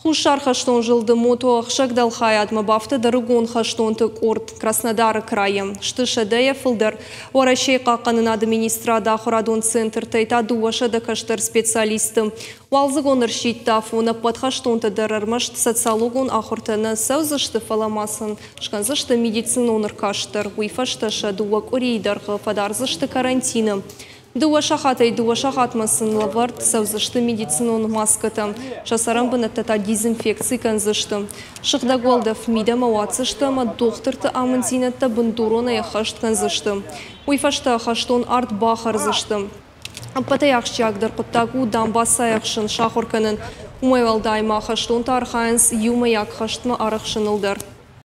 Хуссар хӕстон зылды мотоӕхсӕг дӕлхайадмӕ бафтыд ӕрыгон хӕстонты къорд Краснодары крайӕ. Сты сӕдӕйӕ фылдӕр. Уӕрӕсейы хъахъхъӕнынады министрады ахуырадон центртӕй та 200 кӕстӕр специалисты. Уалдзыгон ӕрсидты афон ӕппӕт хӕстонтӕ дӕр ӕрмӕст социологон ахуыртӕ нӕ цӕудзысты, фӕлӕ ма сын скӕндзысты медицинон ӕркаст дӕр. Уый фӕстӕ сӕ 2 къуырийы дӕргъы фӕдардзысты карантины. 2 сахатӕй 2 сахатмӕ сын лӕвӕрд цӕудзысты медицинон маскӕтӕ. Сӕ цӕрӕнбынӕттӕ та дезинфекци кӕндзысты. Сыгъдӕг уӕлдӕф мидӕмӕ уадздзысты ӕмӕ дохтырты амынддзинӕдтӕ бындуронӕй ӕххӕст кӕндзысты. Уый фӕстӕ хӕстон арт бахӕрдзысты. Ӕппӕтӕй ахсджиагдӕр хъуыддаг у дамбацайы ӕхсын сахуыр кӕнын. Уымӕй уӕлдай ма хӕстонтӕ архайынц иумӕйаг хӕстмӕ арӕхсыныл дӕр.